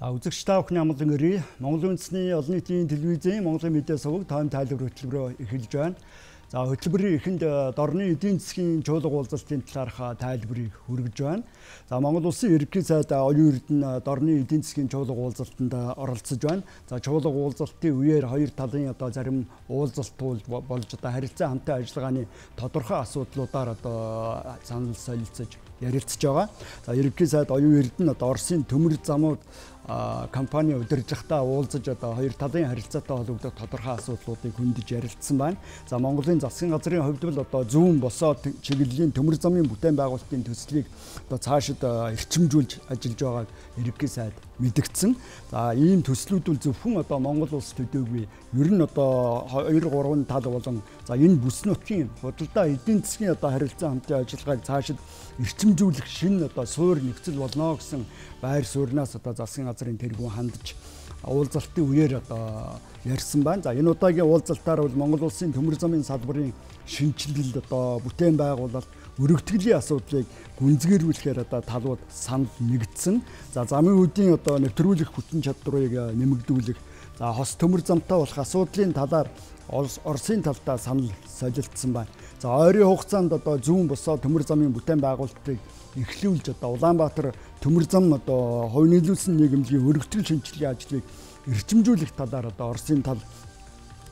Үзэгч та бүхний амгалан өрий. Монголын үндэсний олон нийтийн телевизийн Монголын медиа суваг тойм тайлбар хөтөлбөрөөр эхэлж байна. За хөтөлбөрийн эхэнд дорны эдийн засгийн чуулга уулзалтын талаарх тайлбарыг хүргэж байна. За Монгол Улсын ерөнхий сайд оюун эрдэнэ дорны эдийн засгийн чуулга уулзалтанд оролцож байна. За чуулга уулзалтын үеэр хоёр талын зарим уулзалтууд болж харилцаа хамтын ажиллагааны тодорхой асуудлуудаар санал солилцож ярилцж байгаа. За ерөнхий сайд оюун эрдэнэ Оросын төмөр замууд компани удирдлагатай уулзаж хоёр талын харилцаатай холбогдох тодорхой асуудлуудыг хөндөж ярилцсан байна. За Монголын засгийн газрын хувьд бол зүүн босоо чиглэлийн төмөр замын бүтээн байгуулалтын төслийг цаашид эрчимжүүлж ажиллаж байгааг ерөнхий сайд мэдгдсэн. За ийм төслүүд бол зөвхөн Монгол улс төдийгүй ер нь 2 3 тал болон за энэ бүс нутгийн худалдаа эдийн засгийн харилцаа хамтын ажиллагааг цаашид эрчимжүүлэх шинэ суур нөхцөл болно гэсэн байр сууриас засгийн газрын тэргүүн хандж уулзалтын үеэр ярьсан байна. За энэ удаагийн уулзалтаар бол Монгол улсын төмөр замын салбарын шинжилэл бүтээн байгуулалт өргөтгөлийн асуудлыг гүнзгийрүүлэхээр талууд санал нэгдсэн. За замын үүдийн нэвтрүүлэх хүчин чадварыг нэмэгдүүлэх, за хос төмөр замтай болох асуудлын талаар Оросын талдаа санал солилцсон байна. За ойрын хугацаанд зүүн босоо төмөр замын бүтээн байгуулалтыг эхлүүлж Улаанбаатар төмөр зам хувь нийлүүлсэн нийгэмлэгийн өргөтгөл шинжилгээ ажлыг эрчимжүүлэх талаар Оросын тал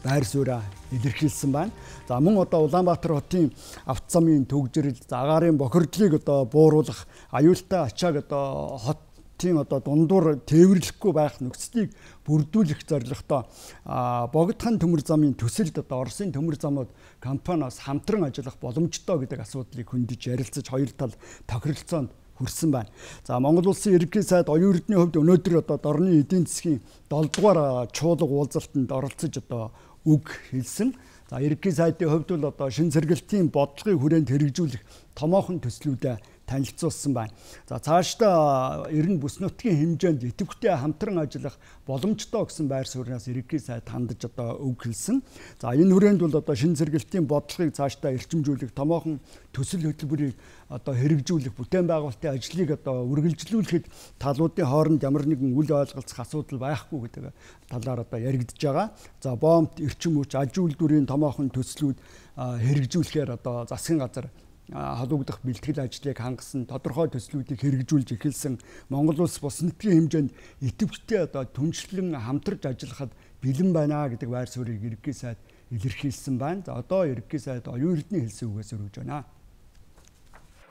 байр сууриа илэрхийлсэн байна. За мөн Улаанбаатар хотын автозамын төгжрөл, агаарын бохирдлыг бууруулах, аюултай ачааг хотын дундуур тээвэрлэхгүй байх нөхцөлийг бүрдүүлэх зорилготой богдхан төмөр замын төсөлд Оросын төмөр замууд компаниас хамтран ажиллах боломжтой гэдэг асуудлыг хөндөж ярилцаж хоёр тал тохиролцоонд хүрсэн байна. За Монгол Улсын ерөнхий сайд оюун эрдэнэ хувьд өнөөдөр дорны эдийн засгийн 7 дугаар чуулга уулзалтанд оролцож үг хэлсэн. За ерөнхий сайдын хувьд бол шин сэргэлтийн бодлогыг хүрээнд хэрэгжүүлэх томоохон төслүүдэд танилцуулсан байна. За цаашдаа ер нь бүс нутгийн хэмжээнд идэвхтэй хамтран ажиллах боломжтой гэсэн байр сууриас ерөнхий сайд хандаж үг хэлсэн. За энэ хүрээнд бол шин сэргэлтийн бодлогыг цаашдаа эрчимжүүлэх томоохон төсөл хөтөлбөрийг хэрэгжүүлэх, бүтээн байгуулалтын ажлыг үргэлжлүүлэхэд талуудын хооронд ямар нэгэн үл ойлголцох асуудал байхгүй гэдэг талаар яригдж байгаа. За бомб, эрчим хүч, аж үйлдвэрийн томоохон төслүүд хэрэгжүүлэхээр засгийн газар холбогдох бэлтгэл ажлыг хангасан, тодорхой төслүүдийг хэрэгжүүлж эхэлсэн. Монгол улс бус нутгийн хэмжээнд идэвхтэй түншлэн хамтарч ажиллахад бэлэн байна гэдэг байр суурийг ерөнхий сайд илэрхийлсэн байна. За ерөнхий сайд оюун эрдэнэ хэлсэн үгээс өргөж байна.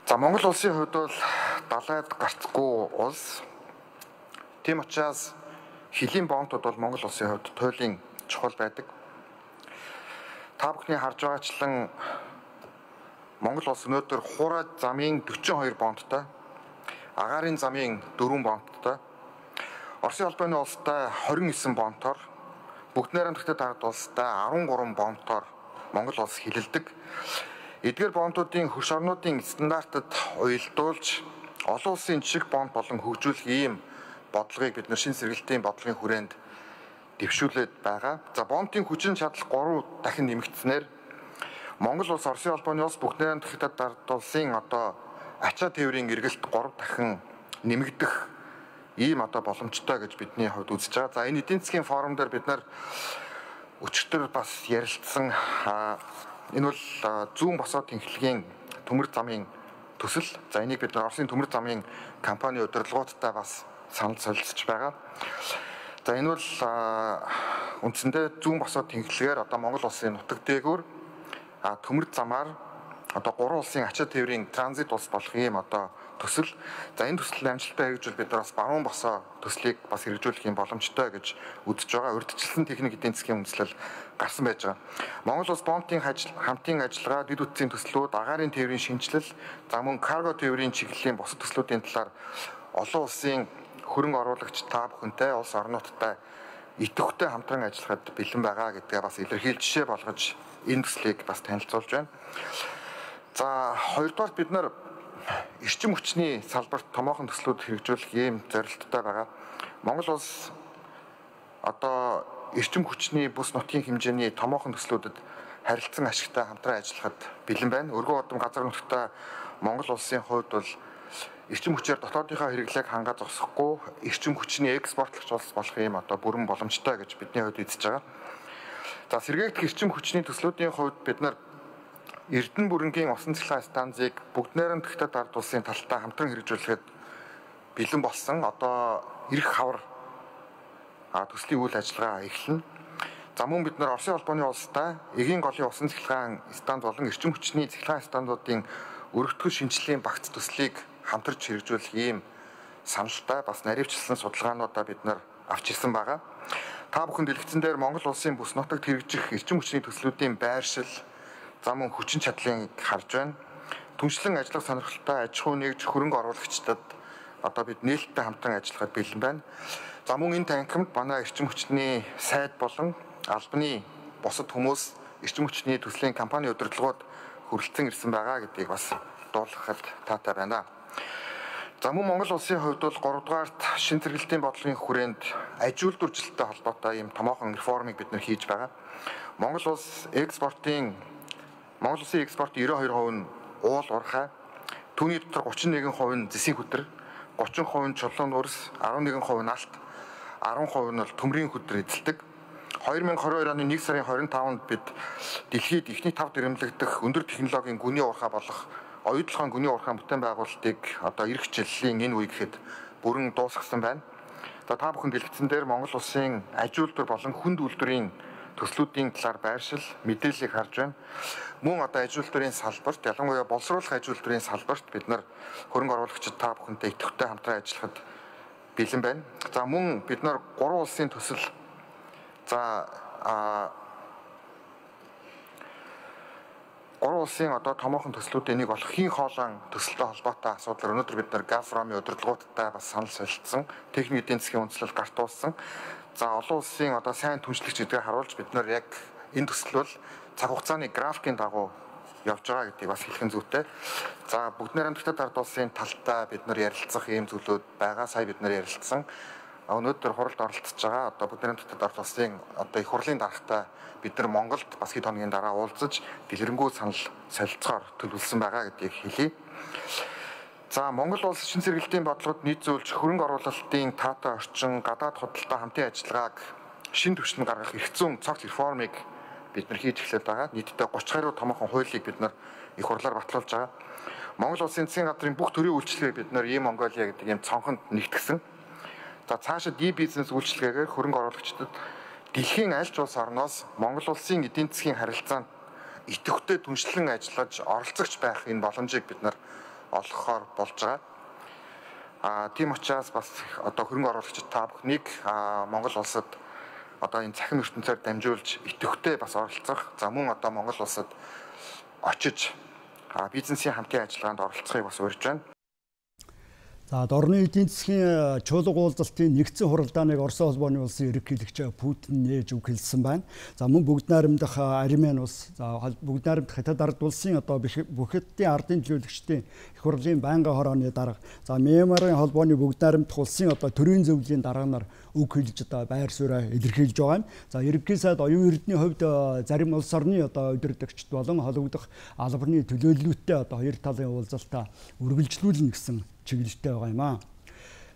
За Монгол улсын хувьд бол далайд гарцгүй улс. Тийм учраас хилийн бомбууд бол Монгол улсын хувьд туйлын чухал байдаг. Та бүхний харж байгаачлан Монгол улс өнөөдөр Хураа замын 42 бомбтой, агаарын замын 4 бомбтой, Оросын албаны улстай 29 бомбтоор, бүгд найрамдагтай тард улстай 13 бомбтоор Монгол улс хилэлдэг. Эдгээр бомбуудын хөрш орнуудын стандартад уялдуулж олон улсын жишг бомб болон хөгжүүлэх ийм бодлогыг бид шин сэргэлтийн бодлогын хүрээнд дэвшүүлээд байгаа. За бомбын хүчин чадал 3 дахин нэмэгдснээр Монгол улс Оросын албаны улс бүгд найрамдагтай тард улсын ачаа тээврийн эргэлт 3 дахин нэмэгдэх ийм боломжтой гэж бидний хувьд үзэж байгаа. За энэ эдийн засгийн форум дээр бид нар өчигдөр бас ярилцсан. Энэ бол зүүн босоо тэнхлэгийн төмөр замын төсөл. За энийг бид Оросын төмөр замын компани удирдлагуудтай бас санал солилцож байгаа. За энэ бол үндсэндээ зүүн босоо тэнхлэгээр Монгол улсын нутаг дээгүүр төмөр замаар 3 улсын ачаа тээврийн транзит улс болох ийм төсөл. За энэ төсөл амжилттай хэрэгжүүл бид нар бас баруун босоо төслийг бас хэрэгжүүлэх юм боломжтой гэж үзэж байгаа. Урьдчилсан техник эдийн засгийн үндэслэл гарсан байж байгаа. Монгол улс бомбын хамтын ажиллагаа, дэд үтсийн төслүүд, агаарын тээврийн шинжилэл, за мөн карго тээврийн чиглэлийн бусад төслүүдийн талаар олон улсын хөрөнгө оруулагч та бүхэнтэй улс орнуудтай идэвхтэй хамтран ажиллахад бэлэн байгаа гэдгээ бас илэрхийлж жишээ болгож энэ төслийг бас танилцуулж байна. За хоёрдугаар бид нар эрчим хүчний салбарт томоохон төслүүд хэрэгжүүлэх ийм зорилттой байгаа. Монгол улс эрчим хүчний бүс нутгийн хэмжээний томоохон төслүүдэд харилцан ашигтай хамтран ажиллахад бэлэн байна. Өргөн удам газар нутагтай Монгол улсын хувьд бол эрчим хүчээр дотоодынхаа хэрэглээг хангаа зогсохгүй эрчим хүчний экспортлогч улс болох юм одоо бүрэн боломжтой гэж бидний хувьд үзэж байгаа. За сэргээгдэх эрчим хүчний төслүүдийн хувьд бид нар Эрдэнэ бүрэнгийн усан цахилгаан станцыг бүгд найрамд Хятад ард улсын талтай хамтран хэрэгжүүлэхэд бэлэн болсон. Одоо эрх хавар төслийн үйл ажиллагаа эхэлнэ. За мөн бид нар Оросын холбооны улстай эгийн голын усан цахилгаан станц болон эрчим хүчний цахилгаан станцуудын өргөтгөл шинжилгээний багц төслийг хамтарч хэрэгжүүлэх ийм саналтай бас наривчлсан судалгаануудаа бид нар авч ирсэн байгаа. Та бүхэн дэлгэцэн дээр Монгол улсын бүс нутагт хэрэгжих эрчим хүчний төслүүдийн байршил, за мөн хүчин чадлыг харж байна. Түншлэн ажиллах сонирхолтой аж ахуй нэгж хөрөнгө оруулагчдад одоо бид нээлттэй хамтран ажиллахад бэлэн байна. За мөн энэ танхимд манай эрчим хүчний сайд болон албаны бусад хүмүүс эрчим хүчний төслийн компани удирдлагууд хүрэлцэн ирсэн байгаа гэдгийг бас дуулгахад таатай байна. За мөн Монгол улсын хувьд бол 3 дугаарт шин зэрэглэлийн бодлогын хүрээнд аж үйлдвэржилттэй холбоотой ийм томоохон реформыг бид нэр хийж байгаа. Монгол улсын экспортын 92% нь уул уурхай, түүний дотор 31% нь зэсийн хөтөр, 30% нь чулуун үрс, 11% нь алт, 10% нь бол төмрийн хөтөр эзэлдэг. 2022 оны 1 сарын 25-нд бид дэлхийд эхний 5 дэрэмлэгдэх өндөр технологийн гүний уурхай болох оюутлахын гүний уурхай бүтээн байгуулалтыг одоо эх хичээлийн энэ үе гэхэд бүрэн дуусгасан байна. За та бүхэн дэлгэцэн дээр Монгол улсын аж үйлдвэр болон хүнд үйлдвэрийн төслүүдийн талаар байршил мэдээллийг харж байна. Мөн одоо аж үйлдвэрийн салбарт, ялангуяа боловсруулах аж үйлдвэрийн салбарт бид нар хөрөнгө оруулагчид та бүхэнтэй идэвхтэй хамтран ажиллахад бэлэн байна. За мөн бид нар 3 улсын төсөл Гурван улсын одоо томоохон төслүүдийн нэг болох хийн хоолойн төсөлтэй холбоотой асуудал өнөөдөр бид нар Газпромын удирдлагуудтай бас санал солилцсон, техник эдийн засгийн үндэслэл гарт уулсан. За олон улсын одоо сайн түншлэгч гэдгийг харуулж бид нар яг энэ төсөл бол цаг хугацааны графикийн дагуу явж байгаа гэдгийг бас хэлэх нь зүйтэй. За бүгд найрамд Хятад ард улсын талтай бид нар ярилцах ийм зүйлүүд байгаа. Сая бид нар ярилцсан. Өнөөдөр хуралд оролцож байгаа одоо бүгд найрамд Хятад ард улсын одоо их хурлын даргатай бид нар Монголд бас хэд хоногийн дараа уулзаж дэлгэрэнгүй санал солилцохоор төлөвлөсөн байгаа гэдгийг хэлье. За Монгол улс шин зэрэглэлийн бодлогод нийцүүлж хөрөнгө оруулалтын таатай орчин, гадаад худалдаа хамтын ажиллагааг шин түвшинд гаргах эрх зүйн цогц реформыг бид нар хийж эхлэх байгаа. Нийтдээ 30 гаруй томоохон хуулийг бид нар их хурлаар батлуулж байгаа. Монгол улсын засгийн газрын бүх төрлийн үйлчлэгийг бид нар Монголиа гэдэг ийм цонхонд нэгтгсэн. За цаашид бизнес үйлчлэгээр хөрөнгө оруулагчдад дэлхийн аль ч улс орноос Монгол улсын эдийн засгийн харилцаанд идэвхтэй түншлэн ажиллаж оролцогч байх энэ боломжийг бид нар олгохоор болж байгаа. Тийм учраас бас одоо хөрөнгө оруулагчид та бүхнийг Монгол улсад одоо энэ цахим ертөнцөөр дамжуулж идэвхтэй бас оролцох. За мөн одоо Монгол улсад очиж бизнесийн хамтын ажиллагаанд оролцохыг бас урьж байна. За дорны эдийн засгийн чуулга уулзалтын нэгдсэн хуралдааныг Оросын холбооны улсын ерөнхийлөгч Путин нээж өгүүлсэн байна. За мөн бүгд найрамдах Армен улс, за бүгд найрамдах Хятад ард улсын одоо бүхэдтийн ардын төлөөлөгчдийн их хурлын байнгын хорооны дарга, за Мьянмарын холбооны бүгд найрамдах улсын одоо төрийн зөвлөлийн дарга нар үг хэлж одоо байр сууриа илэрхийлж байгаа юм. За ерөнхий сайд оюун эрдэнийн хувьд зарим улс орны одоо удирдагчид болон холбогдох албаны төлөөллөлттэй одоо хоёр талын уулзалтаа үргэлжлүүлнэ гэсэн чиглэлтэй байгаа юм аа.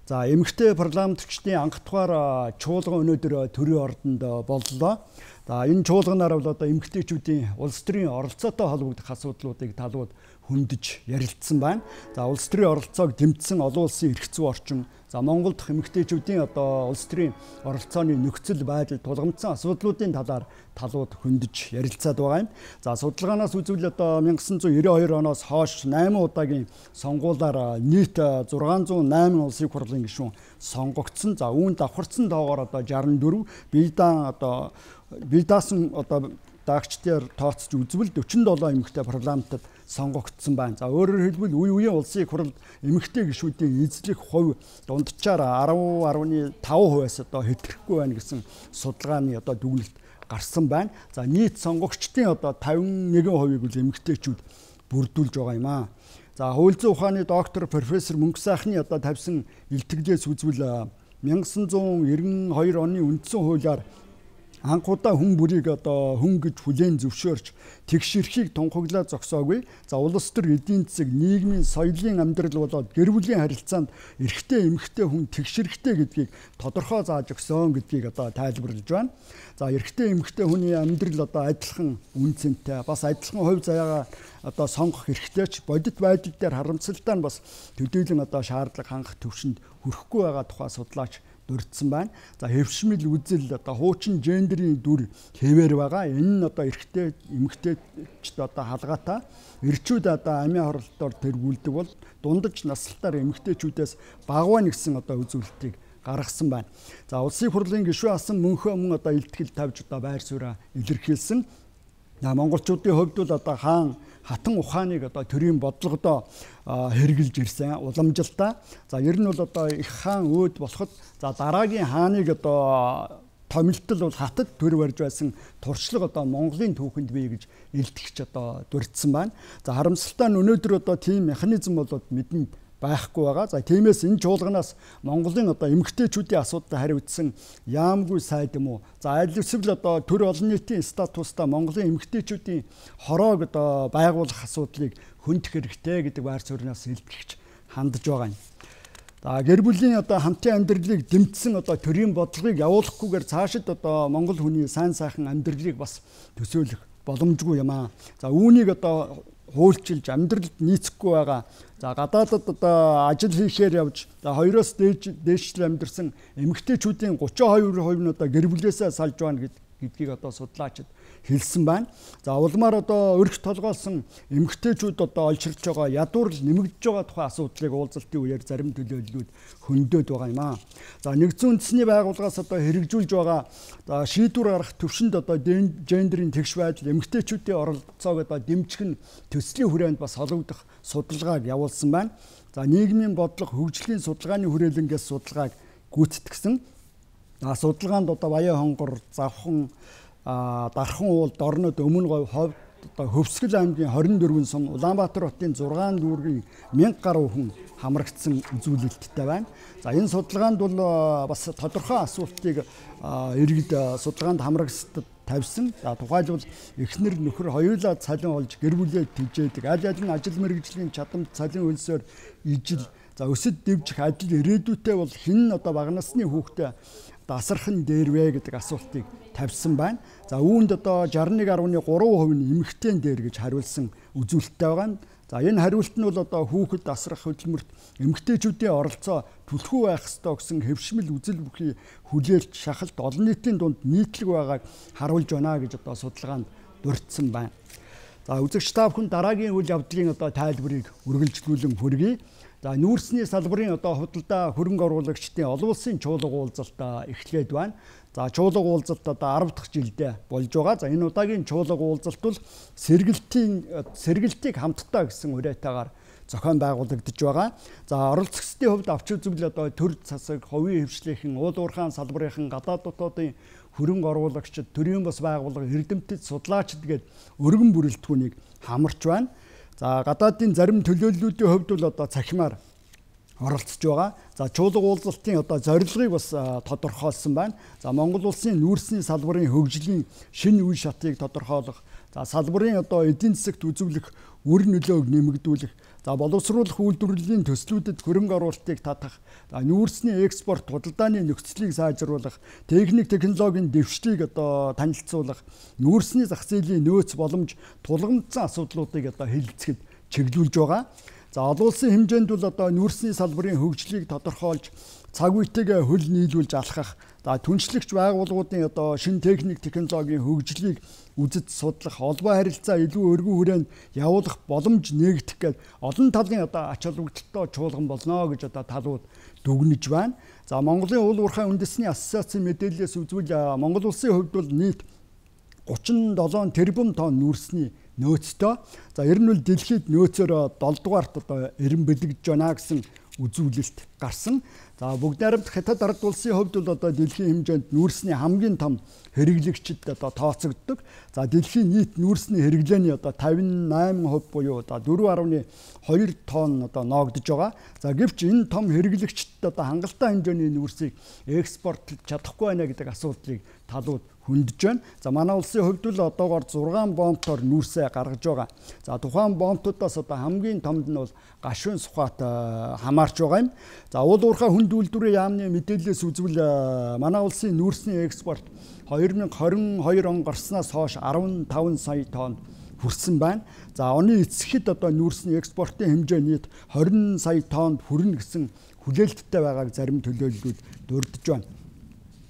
За эмэгтэй парламентчдын анх дахь чуулган өнөөдөр төрийн ордонд боллоо. За энэ чуулганаар бол одоо эмэгтэйчүүдийн улс төрийн оролцоотой холбогдох асуудлуудыг талууд хөндөж ярилцсан байна. За улс төрийн оролцоог дэмжсэн олон улсын эрх зүй орчин, за Монгол дахь эмэгтэйчүүдийн одоо улс төрийн оролцооны нөхцөл байдал тулгамдсан асуудлуудын талууд хөндөж ярилцаад байгаа юм. За судалгаанаас үзвэл одоо 1992 оноос хойш 8 удаагийн сонгуулиар нийт 608 улсын хурлын гишүүн сонгогдсон. За үүнд давхарцсан тоогоор одоо 64, бие даасан одоо даагчдаар тооцож үзвэл 47 эмэгтэй парламентод сонгогдсон байна. За өөрөөр хэлбэл үе үеийн улсын хуралд эмэгтэй гишүүдийн эзлэх хувь дунджаар 10.5%-аас одоо хэтрэхгүй байна гэсэн судалгааны одоо дүгнэлт гарсан байна. За нийт сонгогчдын одоо 51%-ийг үл эмэгтэйчүүд бүрдүүлж байгаа юм аа. За хууль зүйн ухааны доктор профессор Мөнгө сайхны одоо тавьсан илтгэлээс үзвэл 1992 оны үндсэн хуулиар анхудаа хүн бүрийг одоо хүн гэж хүлээн зөвшөөрч тэгш эрхийг тунхаглаа зогсоогүй. За улс төр эдийн засаг, нийгмийн соёлын амьдрал болоод гэр бүлийн харилцаанд эрэгтэй эмэгтэй хүн тэгш эрхтэй гэдгийг тодорхой зааж өгсөн гэдгийг одоо тайлбарлаж байна. За эрэгтэй эмэгтэй хүний амьдрал одоо адилхан үн цэнтэй, бас адилхан хувь заяагаа одоо сонгох эрхтэйч бодит байдал дээр харамсалтай нь бас төдийлөн одоо шаардлага хангах төвшөнд хүрэхгүй байгаа тухай судлаач дурдсан байна. За хэвшмэл үзэл одоо хуучин гендерийн дүр хэвээр байгаа. Энэ нь одоо эрэгтэй эмэгтэйчд одоо халгаатай. Эрчүүд одоо амийн хоролтоор тэргүүлдэг бол дундаж наслалтаар эмэгтэйчүүдээс багваа нэгсэн одоо үзүүлэлтийг гаргасан байна. За улсын хурлын гишүүн асан мөнхөө мөн одоо илтгэл тавьж одоо байр сууриа илэрхийлсэн. Монголчуудын хувьд бол одоо хаан хатан ухааныг одоо төрийн бодлогодоо хэрэгжилж ирсэн уламжилтаа. За ер нь бол одоо их хаан өөд болоход за дараагийн хааныг одоо томилтол бол хатад төр барьж байсан туршлага одоо Монголын түүхэнд бий гэж илтгэж одоо дурдсан байна. За харамсалтай нь өнөөдөр одоо тийм механизм болоод мэдэнд байхгүй байгаа. За тиймээс энэ чуулганаас Монголын одоо эмэгтэйчүүдийн асуудалд хариуцсан яамгүй сайд юм уу? За аль эсвэл одоо төр олон нийтийн статустай Монголын эмэгтэйчүүдийн хороог одоо байгуулах асуудлыг хөндөх хэрэгтэй гэдэг байр сууриас илтгэж хандж байгаа юм. За гэр бүлийн одоо хамтын амьдралыг дэмжсэн одоо төрийн бодлогыг явуулахгүйгээр цаашид одоо Монгол хүний сайн сайхан амьдралыг бас төсөөлөх боломжгүй юм аа. За үүнийг одоо хуульчилж амьдралд нийцэхгүй байгаа. За гадаадад одоо ажил хийхээр явж за 2-оос дээшлэл амьдэрсэн эмэгтэйчүүдийн 32% нь одоо гэр бүлээсээ салж байна гэдгийг одоо судлаачид хэлсэн байна. За улмаар одоо өрх толгойлсон эмэгтэйчүүд одоо олширлж байгаа ядуурл нэмэгдэж байгаа тухай асуудлыг уулзалтын үеэр зарим төлөөллүүд хөндөд байгаа юм аа. За нэгдсэн үндэсний байгууллагаас одоо хэрэгжүүлж байгаа шийдвэр гаргах төвшөнд одоо гендерийн тэгш байдал эмэгтэйчүүдийн оролцоог одоо дэмжих нь төслийн хүрээнд бас холбогдох судалгааг явуулсан байна. За нийгмийн бодлого хөгжлийн судалгааны хүрээлэнгээс судалгааг гүйцэтгсэн. Судалгаанд одоо Баян хонгор, Завхан, Дархан уулд орнод өмнө говь ховд одоо Хөвсгөл аймгийн 24 сум, Улаанбаатар хотын 6 дүүргийн 1000 гаруй хүн хамрагдсан үзүүлэлттэй байна. За энэ судалгаанд бол бас тодорхой асуултыг иргэд судалгаанд хамрагсдад тавьсан. За тухайлбал эхнэр нөхөр хоёулаа цалин олж гэр бүлээ тэжээдэг. Аль аль нь ажил мэргэжлийн чадамж цалин хөлсөөр ижил. За өсөд дэвжих ажил ирээдүйтэй бол хэн одоо бага насны хүүхдээ дасархан дээр вэ гэдэг асуултыг тавьсан байна. За үүнд одоо 61.3% нь эмэгтэйн дээр гэж хариулсан үзүүлэлттэй байгаа. За энэ хариулт нь бол одоо хүүхэд дасрах хөдөлмөрт эмэгтэйчүүдийн оролцоо түлхүү байх ёстой гэсэн хэвшмэл үзэл бүхий хүлээлт шахалт олон нийтийн дунд нийтлэг байгааг харуулж байна гэж одоо судалгаанд дурдсан байна. За үзэгч та бүхэн дараагийн үйл явдлын одоо тайлбарыг үргэлжлүүлэн хүргэе. За нүүрсний салбарын одоо худалдаа хөрөнгө оруулагчдын олон улсын чуулга уулзалт эхлээд байна. За чуулга уулзалт одоо 10 дахь жилдээ болж байгаа. За энэ удаагийн чуулга уулзалт бол сэргэлтийг хамтдаа гэсэн уриатаагаар зохион байгуулагдаж байгаа. За оролцогчдын хувьд авч үзвэл одоо төр засаг, хувийн хвшлийнхэн, уул уурхайн салбарынхан, гадаад дотоодын хөрөнгө оруулагчид, төрийн бас байгууллага, эрдэмтэд, судлаачид гээд өргөн бүрэлдэхүүнийг хамарч байна. За гадаадын зарим төлөөллүүдийн хувьд бол одоо цахимаар оролцож байгаа. За чуулга уулзалтын одоо зорилгыг бас тодорхойлсон байна. За Монгол улсын нүүрсний салбарын хөгжлийн шинэ үе шатыг тодорхойлох, за салбарын одоо эдийн засагт үзүүлэх үр нөлөөг нэмэгдүүлэх, за боловсруулах үйлдвэрлэлийн төслүүдэд хөрөнгө оруулалтыг татах, за нүүрсний экспорт худалдааны нөхцөлийг сайжруулах, техник технологийн дэвшлийг одоо танилцуулах, нүүрсний зах зээлийн нөөц боломж тулгамдсан асуудлуудыг одоо хэлэлцэхэд чиглүүлж байгаа. За олон улсын хэмжээнд бол одоо нүүрсний салбарын хөгжлийг тодорхойлж цаг үетэйгээ хөл нийлүүлж алхах, за түншлэгч байгууллагуудын одоо шинэ техник технологийн хөгжлийг үзэж судлах, холбоо харилцаа илүү өргөн хүрээнд явуулах боломж нээгдэх гээд олон талын одоо ач холбогдолтой чуулган болно гэж одоо талууд дүгнэж байна. За Монголын уул уурхай үндэсний ассоциацийн мэдээлэлээс үзвэл Монгол улсын хувьд бол нийт 37 тэрбум тонн нүүрсний нөөцтэй. За ер нь бол дэлхийд нөөцөөр 7 дугаарт одоо эрен бэлэгдэж байна гэсэн үзүүлэлт гарсан. За бүгд найрамдах Хятад ард улсын хувьд бол одоо дэлхийн хэмжээнд нүүрсний хамгийн том хэрэглэгчид одоо тооцогддог. За дэлхийн нийт нүүрсний хэрэглээний одоо 58% буюу одоо 4.2 тонн одоо ноогдож байгаа. За гэвч энэ том хэрэглэгчдэд одоо хангалттай хэмжээний нүүрсийг экспортлж чадахгүй байна гэдэг асуудлыг талууд хөндөж байна. За манай улсын хувьд л одоогоор 6 бомбтоор нүүрсээ гаргаж байгаа. За тухайн бомбтуудаас одоо хамгийн томд нь бол гашуун сухат хамаарч байгаа юм. За уул уурхай хүнд үйлдвэрийн яамны мэдээлэлээс үзвэл манай улсын нүүрсний экспорт 2022 он гарснаас хойш 15 сая тонн хүрсэн байна. За оны эцэхэд одоо нүүрсний экспортын хэмжээ нийт 20 сая тоннд хүрнэ гэсэн хүлээлттэй байгааг зарим төлөөллүүд дурдж байна.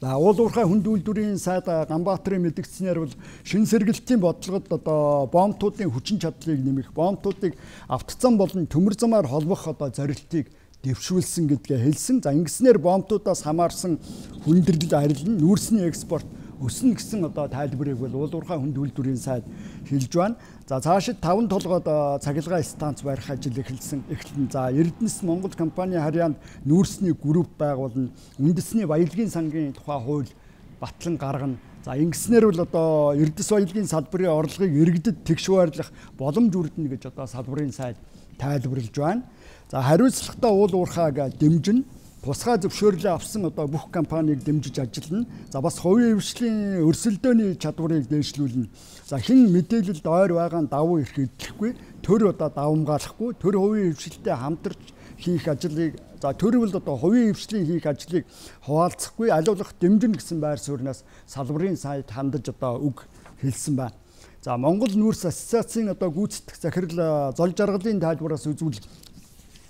За уул уурхай хүнд үйлдвэрийн сайд Ганбаатарын мэдгдснээр бол шин сэргэлтийн бодлогод одоо бомбтуудын хүчин чадлыг нэмэх, бомбтуудыг автоцам болон төмөр замаар холбох одоо зорилтыг дэвшүүлсэн гэдгээ хэлсэн. За ингэснээр бомбтуудаас хамаарсан хүндрэл арилна, нүүрсний экспорт өснө гэсэн одоо тайлбарыг бол уул уурхай хүнд үйлдвэрийн сайд хэлж байна. За цаашид 5 толгойд цахилгаан станц барих ажил эхэлнэ. За Эрдэнэс Монгол компани харьяанд нүүрсний групп байгуулна. Үндэсний баялагын сангийн тухай хууль батлан гаргана. За ингэснээр бол одоо Эрдэс баялагын салбарын орлогыг иргэдэд тэгш байрлах боломж үрдэнэ гэж одоо салбарын сайд тайлбарлаж байна. За хариуцлагатай уул уурхайг дэмжинэ. Тусгай зөвшөөрлөө авсан одоо бүх компанийг дэмжиж ажиллана. За бас хувийн хвшлийн өрсөлдөөний чадварыг дээшлүүлнэ. За хэн мэдээлэлд ойр байгаа нь давуу ирэх эдлэхгүй, төр одоо давамгаалахгүй, төр хувийн хвшилтэй хамтарч хийх ажлыг төр бол одоо хувийн хвшлийн хийх ажлыг хуваалцахгүй, аливаалах дэмжинэ гэсэн байр сууриас салбарын сайд хандаж одоо үг хэлсэн байна. За Монгол нүүрс ассоциацийн одоо гүйцэтгэх захирал зол жаргалын тайлбараас үзвэл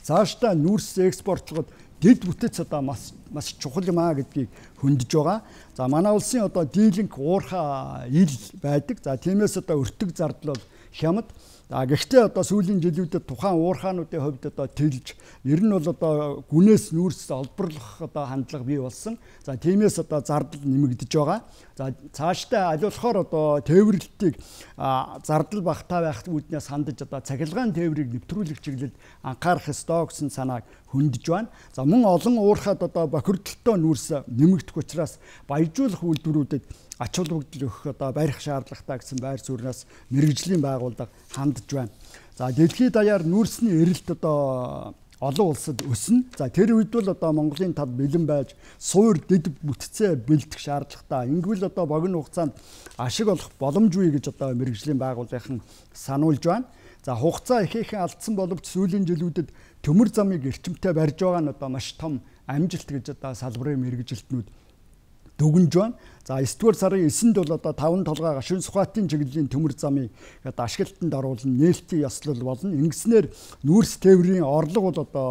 цаашдаа нүүрс экспортлоход дэд бүтэц одоо маш чухал юм а гэдгийг хөндөж байгаа. За манай улсын одоо дийлэнх уурхай ил байдаг. За тиймээс одоо өртөг зардал бол хямд. Гэхдээ одоо сүүлийн жилүүдэд тухайн уурхаануудын хувьд одоо тэлж ер нь бол одоо гүнээс нүүрс олборлох одоо хандлага бий болсон. За тиймээс одоо зардал нэмэгдэж байгаа. За цаашдаа аль болохоор одоо тээвэрлэлтийг зардал багтаа байх үүднээс хандаж одоо цахилгаан тээврийг нэвтрүүлэх чиглэлд анхаарах ёстой гэсэн санааг хөндөж байна. За мөн олон уурхайд одоо бохирдолтой нүүрс нэмэгдэх учраас баяжуулах үйлдвэрүүдэд ач холбогдол өгөх одоо барих шаардлагатай гэсэн байр сууриас мэргэжлийн байгууллага хандж байна. За дэлхийд даяар нүүрсний эрэлт одоо олон улсад өснө. За тэр үед бол одоо Монголын тал бэлэн байж суур дэд бүтцээ бэлдэх шаардлагатай. Ингэвэл одоо богино хугацаанд ашиг олох боломжгүй гэж одоо мэргэжлийн байгууллагын сануулж байна. За хугацаа ихээхэн алдсан боловч сүүлийн жилүүдэд төмөр замыг эрчимтэй барьж байгаа нь одоо маш том амжилт гэж одоо салбарын мэргэжилтнүүд дүгнж байна. За 9 дугаар сарын 9-нд бол одоо 5 толгой гашуун сухатын чиглэлийн төмөр замыг одоо ашиглалтанд оруулан нээлтийн ёслол болно. Ингэснээр нүүрс тээврийн орлого бол одоо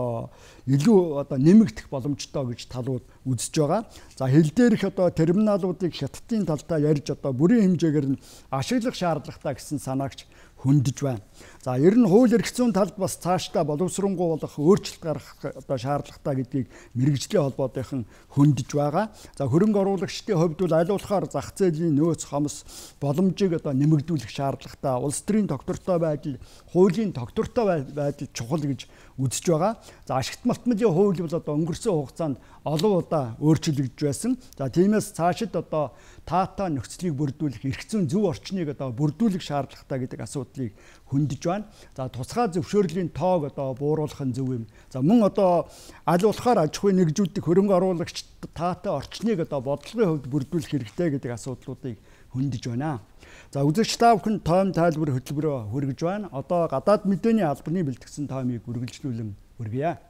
илүү одоо нэмэгдэх боломжтой гэж талууд үзэж байгаа. За хил дээрх одоо терминалуудыг хятадын талдаа ярьж одоо бүрийн хэмжээгээр нь ашиглах шаардлагатай гэсэн санаагч хөндөж байна. За ер нь хууль эрх зүйн талд бас цаашдаа боловсронгуй болох өөрчлөлт гаргах одоо шаардлагатай гэдгийг мэргэжлийн холбоотойхон хөндөж байгаа. За хөрөнгө оруулагчдын хувьд бол аль болохоор зах зээлийн нөөц хомс боломжийг одоо нэмэгдүүлэх шаардлагатай. Улс төрийн тогтвортой байдал, хуулийн тогтвортой байдал чухал гэж үзэж байгаа. За ашигт малтмалын хууль бол одоо өнгөрсөн хугацаанд олон удаа өөрчлөгдөж байсан. За тиймээс цаашид одоо таатай нөхцөлийг бүрдүүлэх, эрх зүйн зөв орчныг одоо бүрдүүлэх шаардлагатай гэдэг асуудлыг хөндөж байна. За тусгай зөвшөөрлийн тоог одоо бууруулах нь зөв юм. За мөн одоо аль болохоор аж ахуйн нэгжүүдийг хөрөнгө оруулагчид таатай орчныг одоо бодлогын хувьд бүрдүүлэх хэрэгтэй гэдэг асуудлуудыг хөндөж байна. За үзэгч та бүхэн тоом тайлбар хөтөлбөрөөр хүргэж байна. Одоо гадаад мэдээний албаны бэлтгэсэн тоомыг үргэлжлүүлэн хүргье.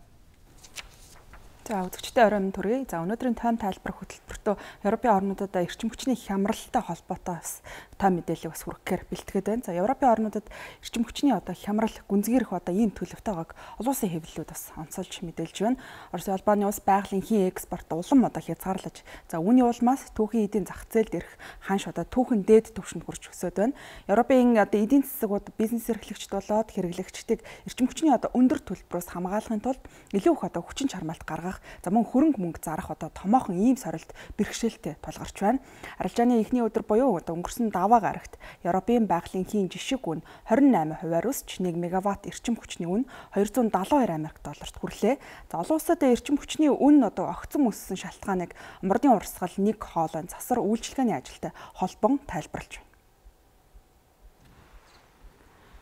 За үзэгчтэй оройн төргий. За өнөөдрийн тоом тайлбар хөтөлбөртөө Европын орнуудад эрчим хүчний хямралтай холбоотой бас тоом мэдээлэл бас хүргэхээр бэлтгээд байна. За Европын орнуудад эрчим хүчний одоо хямрал гүнзгийрэх одоо ийм төлөвтэй байгааг олон улсын хэвлэлүүд бас онцолж мэдээлж байна. Оросын албаны улс байгалийн хийн экспорт улам одоо хязгаарлаж, за үүний улмаас түүхийн эдийн зах зээлд ирэх ханш одоо түүхэн дээд түвшинд хүрч өсөд байна. Европын одоо эдийн засаг бизнес эрхлэгчд болоод хэрэглэгчдийг эрчим хүчний одоо өндөр төлбөрөөс хамгаалахын тулд илүү их одоо хүчин чармаалт гаргах, за мөн хөрөнгө мөнгө зарах одоо томоохон ийм сорилт бэрхшээлтэй тулгарч байна. Арилжааны эхний өдөр буюу одоо өнгөрсөн даваа гарагт Европын байгалийн хийн жишг үн 28%-аар өсч 1 мегаватт эрчим хүчний үн $272 Америкт хүрлээ. За олон улсад эрчим хүчний үн одоо огцом өссөн шалтгааныг мордын урсгал, нэг хоолой, засар үйлчилгээний ажилтай холбон тайлбарлаж байна.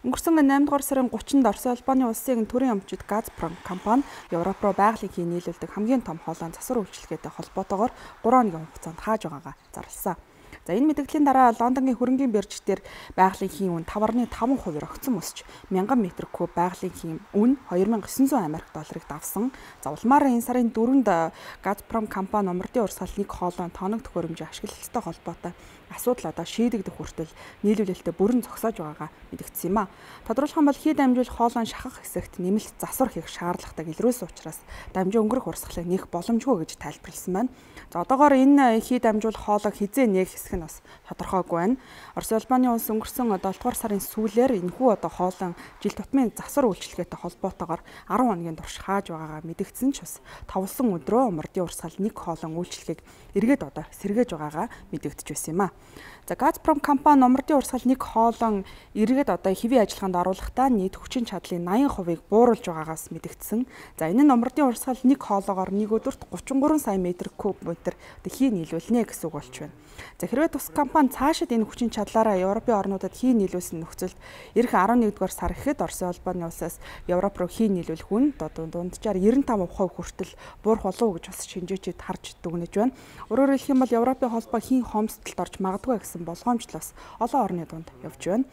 Өнгөрсөн 8 дугаар сарын 30-нд Оросын албаны улсын төрийн өмчид Газпром компани Европ руу байгалийн хийн нийлүүлдэг хамгийн том хоолойн засвар үйлчилгээтэй холбоотойгоор 3 хоногийн хугацаанд хааж байгаагаа зарласан. За энэ мэдээллийн дараа Лондонгийн хөрөнгийн бирж дээр байгалийн үн 5.5% огцон өсч 1000 м куб байгалийн үн 2900 Америк долларыг давсан. За улмаар энэ сарын 4-нд Газпром компани умардын урсгал 1 хоолой тоног төхөөрөмжийн ашиглалттай холбоотой асуудал одоо шийдэгдэх хүртэл нийлүүлэлтэд бүрэн зогсоож байгаагаа мэдэгдсэн юм а. Тодорхойлох юм бол хий дамжуул хоолойн шахах хэсэгт нэмэлт засвар хийх шаардлагатай илрүүлсэн учраас дамжин өнгөрөх урсгалыг нээх боломжгүй гэж тайлбарласан байна. За одоогоор энэ хий дамжуул хоолойг хизээ нээх хэсэг нь бас тодорхойгүй байна. Орос улбаны улс өнгөрсөн 7 дугаар сарын сүүлээр энэхүү одоо хоолойн жил тутмын засвар үйлчилгээтэй холбоотойгоор 10 хоногийн турш хааж байгаагаа мэдэгдсэн ч бас тавлсан өдрөө умардын урсгал 1 хоолойн үйлчилгээг эргээд одоо сэргээж байгаагаа мэдэгдэж байсан юм а. За Газпром компани умардын урсгал 1 хоолойн эргээд одоо хэвийн ажиллагаанд оруулахдаа нийт хүчин чадлын 80%-ыг бууруулж байгаагаас мэдэгдсэн. За энэ нь умардын урсгал 1 хоолойгоор нэг өдөрт 33 сая метр куб метр хий нийлүүлнэ гэсэн үг болж байна. За хэрвээ тус компани цаашид энэ хүчин чадлаараа Европын орнуудад хий нийлүүлсэн нөхцөлд эх 11-р сар ихэд Оросын улбаны улсаас Европ руу хий нийлүүлэх үн дунджаар 95% хүртэл буурах болов уу гэж бас шинжээчид харж дүгнэж байна. Өөрөөр хэлэх юм бол Европын холбоо хийн хомсдолд орж магадгүй гэсэн болгоомжл бас олон орны дунд явж байна.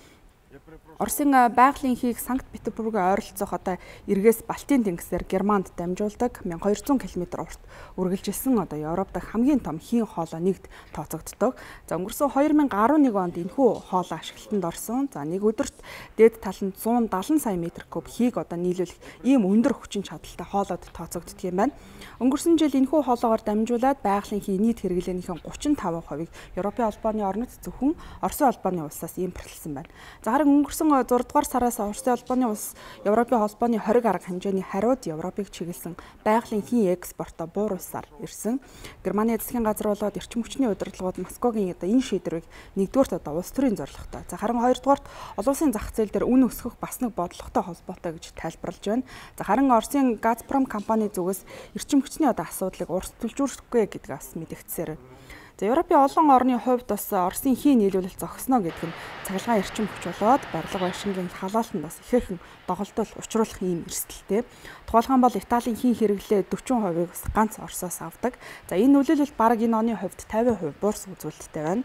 Оросын байгалийн хийг Санкт-Петербургийн ойролцоох одоо эргээс Балтийн тэнгисээр Германд дамжуулдаг 1200 км урт үргэлжилсэн одоо Европ дахь хамгийн том хийн хоолой нэгд тооцогддог. За өнгөрсөн 2011 онд энэхүү хоолой ашиглалтанд орсон. За нэг өдөрт дээд тал нь 170 сая метр куб хийг одоо нийлүүлэх ийм өндөр хүчин чадалтай хоолойд тооцогддог юм байна. Өнгөрсөн жил энэхүү хоолойгоор дамжуулаад байгалийн хий нийт хэрэглээнийхэн 35%-ыг Европын холбооны орнод зөвхөн Оросын улбаны улсаас импортлсон байна. За харин өнгөрсөн 6 дугаар сараас Оросын улбаны улс Европын холбооны 20 гаруй хэмжээний хариуд Европыг чиглэсэн байгалийн хийн экспортоо бууруулсаар ирсэн. Германы засгийн газар болоод эрчим хүчний удирдлагууд Москвагийн одоо энэ шийдвэрийг нэгдүгээрт одоо улс төрийн зорилготой. За харин хоёрдугаарт олон улсын зах зээл дээр үн өсгөх бас нэг бодлоготой холбоотой гэж тайлбарлаж байна. За харин Оросын Газпром компани зүгээс эрчим хүчний одоо асуудлыг урьдчилжүүлэхгүй гэдгээ бас мэдэгдсээр байна. За Европын олон орны хувьд бас Оросын хий нийлүүлэлт зогсно гэдэг нь цахилгаан эрчим хүч болоод барилга байшингийн халаалтанд бас ихээхэн доголдол учруулах ийм эрсдэлтэй. Тухайлбал бол Италийн хийн хэрэглээ 40%-ийг бас ганц Оросоос авдаг. За энэ нөлөөлөл бараг энэ оны хувьд 50% буурс үзүүлэлттэй байна.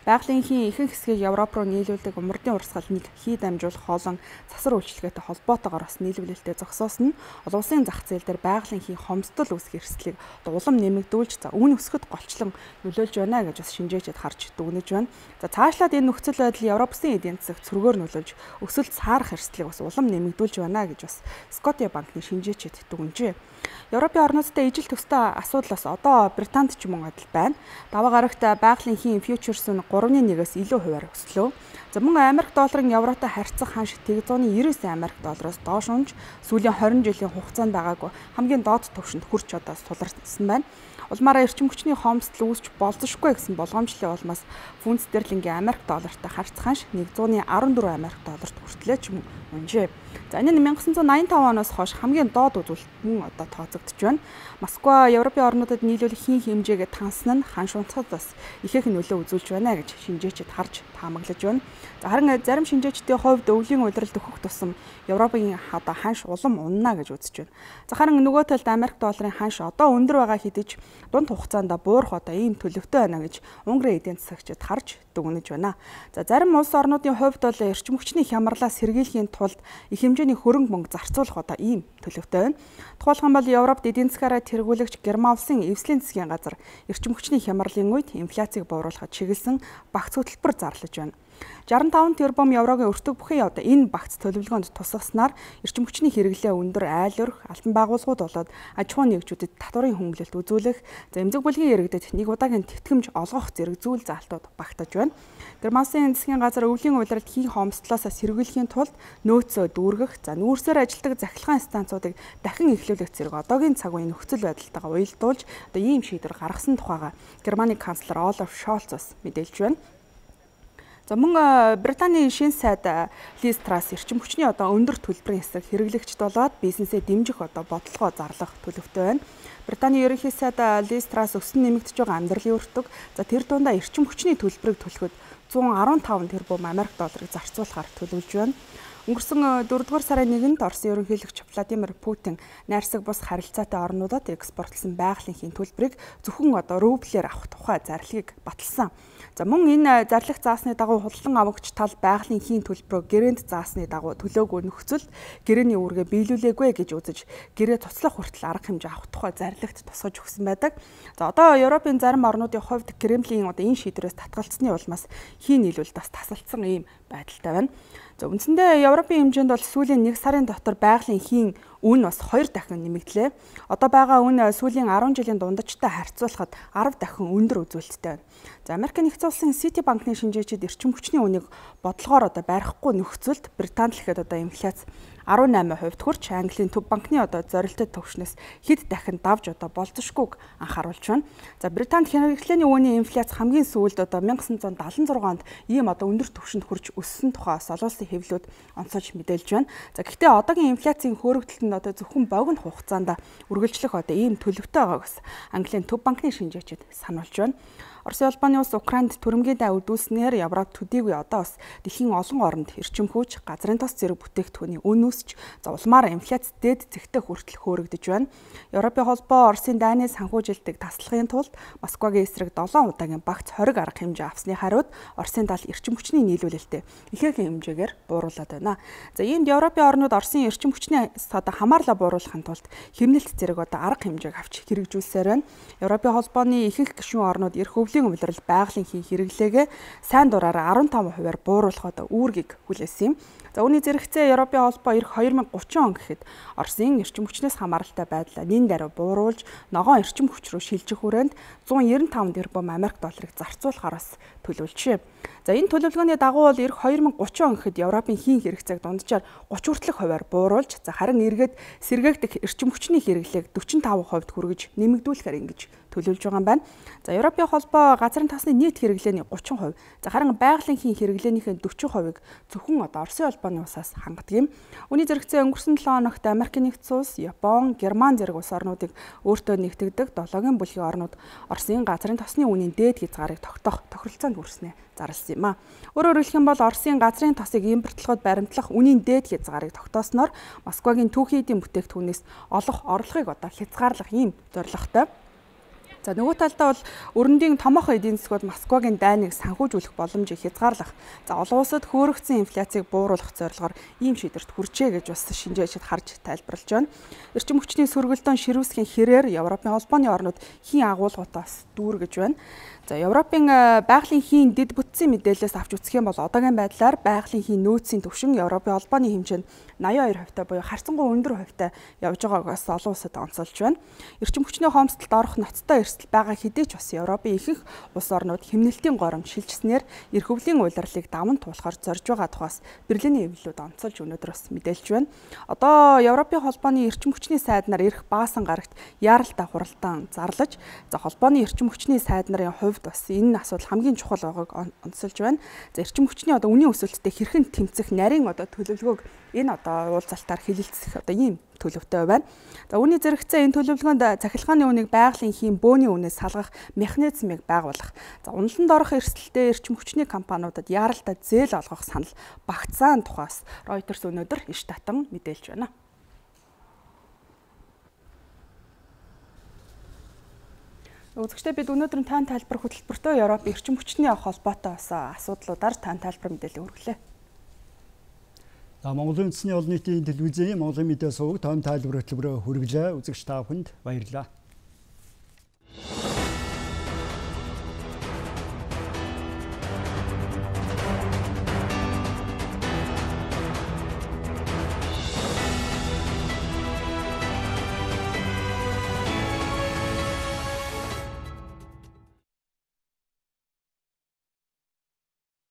Байгалийн хийн ихэнх хэсгийг Европ руу нийлүүлдэг умардын урсгал нэг хий дамжуулах хоолон засвар үйлчилгээтэй холбоотойгоор бас нийлүүлэлтэд зогсоосон нь олон улсын зах зээл дээр байгалийн хийн хомсдол үүсгэх эрсдлийг улам нэмэгдүүлж за үн өсгөхөд голчлон нөлөөлж байна гэж бас шинжээчид харж дүгнэж байна. За цаашлаад энэ нөхцөл байдал Европын эдийн засагт цөргөөр нөлөөлж өсөлт саарах эрсдлийг бас улам нэмэгдүүлж байна гэж бас Скотия банкны шинжээчид дүгнэжээ. Европын орнуудтай ижил төстэй асуудал бас одоо Британд ч мөн адил байна. Даваа гарагт байгалийн хийн фьючерс нь 3.1-ээс илүү хувиар өслөө. За мөн Америк долларын евротой харьцах ханш 199 Америк доллароос доош унж сүүлийн 20 жилийн хугацаанд байгаагүй хамгийн доод түвшинд хүрч одоо суларсан байна. Улмаараа эрчим хүчний хомсдол үүсч болзошгүй гэсэн болгоомжлын улмаас фунт стерлингийн Америк доллартай харьцах ханш 114 Америк долларт хүртлээ ч юм унжээ. За энэ нь 1985 оноос хойш хамгийн доод үзүүлэлт мөн одоо тооцогдож байна. Москва Европын орнуудад нийлүүлэх хийн хэмжээгээ тансан нь ханш унцахад бас ихээхэн нөлөө үзүүлж байна гэж шинжээчид харж таамаглаж байна. За харин зарим шинжээчдийн хувьд өвлийн улиралд өгөх тусам Европын одоо ханш улам унана гэж үзэж байна. За харин нөгөө талд Америк долларын ханш одоо өндөр байгаа хэдий ч дунд хугацаанд буурах одоо ийм төлөвтэй байна гэж Унгарын эдийн засагчид харж дүгнэж байна. За зарим улс орнуудын хувьд бол эрчим хүчний хямралаас сэргийлэхийн тулд их хэмжээний хөрөнгө мөнгө зарцуулах одоо ийм төлөвтэй байна. Тухайлбал бол Европт эдийн засгаараа тэргүүлэгч Герман улсын эвслийн засгийн газар эрчим хүчний хямралын үед инфляцийг бууруулахад чиглэсэн багц хөтөлбөр зарлаж байна. 65 тэрбум еврогийн өртөг бүхий одоо энэ багц төлөвлөгөөнд тусгаснаар эрчим хүчний хэрэглээ өндөр айл өрх алтан байгууллагууд болоод аж ахуйн нэгжүүдэд татварын хөнгөлөлт үзүүлэх, за эмзэг бүлгийн иргэдэд нэг удаагийн тэтгэмж олгох зэрэг зүйл заалтууд багтаж байна. Герман засгийн газар өвлийн улиралд хийн хомсдлоосоо сэргийлэхийн тулд нөөцөө дүүргэх, за нүүрсээр ажилладаг захилгаан станцуудыг дахин эхлүүлэх зэрэг одоогийн цаг үеийн нөхцөл байдалтайгаа уялдуулж одоо ийм шийдвэр гаргасан тухайга Германы канцлер Олаф Шольц бас мэдээлж байна. За мөн Британий шинэ сайд Лиз Трасс эрчим хүчний одоо өндөр төлбөрийн эсрэг хэрэглэгчд болоод бизнесээ дэмжих одоо бодлогоо зарлах төлөвтэй байна. Британий ерөнхий сайд Лиз Трасс өсөн нэмэгдэж байгаа амьдралын өртөг, за тэр дундаа эрчим хүчний төлбөрийг төлөхөд 115 тэрбум Америк долларыг зарцуулахаар төлөвлөж байна. Өнгөрсөн 4-р сарын 1-нд Оросын ерөнхийлөгч Владимир Путин найрсаг бус харилцаатай орнуудад экспортлсон байгалийн төлбөрийг зөвхөн рублээр авах тухай зарлигийг баталсан. За мөн энэ зарлих заасны дагуу худалдан авагч тал байгалийн төлбөрөө гэрээнд заасны дагуу төлөөгүй нөхцөлд гэрээний үүргээ биелүүлээгүй гэж үзэж гэрээ туцлах хүртэл арга хэмжээ авах тухай зарлагт тусгаж өгсөн байдаг. За одоо Европын зарим орнуудын хувьд Кремлийн энэ шийдвэрээс татгалцсны улмаас нийлүүлэлт бас тасалдсан ийм байдалтай байна. За үндсэндээ Европын хэмжээнд бол сүүлийн 1 сарын дотор байгалийн үн бас 2 дахин нэмэгдлээ. Одоо байгаа үн сүүлийн 10 жилийн дундажтай харьцуулахад 10 дахин өндөр үзүүлэлттэй байна. За Америк нэгдсэн улсын City банкны шинжээчид эрчим хүчний үнийг бодлогоор барихгүй нөхцөлд Британд л ихэд инфляц 18% хүрч Английн төв банкны зорилттой төвшнөөс хэд дахин давж болзошгүйг анхааруулж байна. За Британд хэрэглээний үүний инфляц хамгийн сүүлд 1976 онд ийм өндөр түвшинд хүрч өссөн тухай олон улсын хэвлэлүүд онцолж мэдээлж байна. За гэхдээ одоогийн инфляцийн хөөрөгдөлт нь зөвхөн богино хугацаанд үргэлжлэх ийм төлөвтэй байгааг бас Английн төв банкны шинжээчид сануулж байна. Оросын улбаны улс Украинд түрэмгийн дай үдүүлснээр Европ төдийгүй одоо бас дэлхийн олон оронд эрчим хүч, газрын тос зэрэг бүтээгдэхүүний үн өсч улмаар инфляц дээд зэгтээ хүртэл хөөрөгдөж байна. Европын холбоо Оросын дайны санхүүжилтийг таслахын тулд Москвагийн эсрэг 7 удаагийн багц 20 арга хэмжээ авсны хариуд Оросын тал эрчим хүчний нийлүүлэлтэд ихээхэн хэмжээгээр бууруулад байна. За иймд Европын орнууд Оросын эрчим хүчний хамаарлаа бууруулахын тулд хэмнэлт зэрэг арга хэмжээг авч хэрэгжүүлсээр байна. Европын холбооны ихэнх гишүүн орнууд эрх өвлийн улирал байгалийн хэрэглээгээ сайн дураараа 15%-аар бууруулахад үүргийг хүлээсэн юм. За үүний зэрэгцээ Европын холбоо эх 2030 он гэхэд Оросын эрчим хүчнээс хамааралтай байдлаа нэн даруй бууруулж ногоон эрчим хүч рүү шилжих хүрээнд 195 тэрбум Америк долларыг зарцуулахаар төлөвлөжээ. За энэ төлөвлөгөөний дагуу бол эх 2030 он гэхэд Европын хэрэгцээг дунджаар 30 хүртэлх хувиар бууруулж харин эргээд сэргээгдэх эрчим хүчний хэрэглээг 45% хүргэж нэмэгдүүлэхээр ингэж төлөвлөж байгаа юм байна. За Европын холбоо газрын тасны нийт хэрэглээний 30%, харин байгалийн хэрэглээнийхээ 40%-ыг зөвхөн Оросын улбаны улсаас хангадаг юм. Үүний зэрэгцээ өнгөрсөн 7 хоногт Америк нэгдсэн улс, Япон, Герман зэрэг улс орнуудыг өөртөө нэгтгэдэг 7-гийн бүлгийн орнууд Оросын газрын тосны үнийн дээд хязгаарыг тогтоох тохиролцоонд хүрснэ зарласан юм а. Өөрөөр хэлэх юм бол Оросын газрын тосыг импортлоход баримтлах үнийн дээд хязгаарыг тогтоосноор Москвагийн түүхий эдийн бүтээгдэхүүнээс олох орлогыг хязгаарлах ийм зорилготой. За нөгөө талдаа бол өрөндийн томоохон эдийн засгууд Москвагийн дайныг санхүүжүүлэх боломжийг хязгаарлах. За олон улсад хөөрөгдсөн инфляцийг бууруулах зорилгоор ийм шийдвэрт хүрчээ гэж бас шинжээчид харж тайлбарлаж байна. Эрчим хүчний сөргөлдөөн ширүүсгийн хэрээр Европын холбооны орнууд агуулгуудаас дүүргэж байна. За Европын байгалийн дэд бүтцийн мэдээлэлээс авч үзэх юм бол одоогийн байдлаар байгалийн нөөцийн түвшин Европын холбооны хэмжээнд 82% буюу харьцангуй өндөр хувьтай явж байгааг бас олон улсад онцолж байна. Эрчим хүчний хомсдолд орох ноцтой эрсдэл байгаа хэдий ч бас Европын ихэнх улс орнууд хэмнэлтийн горомж шилжснээр эрх өвлийн улирлыг даван туулахар зорж байгаа тухаас Берлиний эвлэлүүд онцолж өнөөдөр бас мэдээлж байна. Одоо Европын холбооны эрчим хүчний сайднаар эрх баасан гарагт яаралтай хуралдаан зарлаж, холбооны эрчим хүчний сайд нарын хувьд бас энэ асуудал хамгийн чухал байгааг онцолж байна. За эрчим хүчний үнийн өсөлттэй хэрхэн тэмцэх нарийн төлөвлөгөөг энэ уулзалтаар хэлэлцэх ийм төлөвтэй байна. За үүний зэрэгцээ энэ төлөвлөгөөнд цахилгааны үнийг байгалийн бөөний үнээс салгах механизмыг байгуулах. За уналтанд орох эрсдэлтэй эрчим хүчний компаниудад яаралтай зээл олгох санал багтсан тухаас Reuters өнөөдөр иш татан мэдээлж байна. Үзэгчдээ бид өнөөдөр тань тайлбар хөтөлбөртөө Европ эрчим хүчний холбоотой асуудлуудаар тань тайлбар мэдээлэл өргөлээ. За Монголын үндэсний олон нийтийн телевизийн Монголын медиа суваг тань тайлбар хөтөлбөрөөр хүргэлээ. Үзэгч та бүхэнд баярлалаа.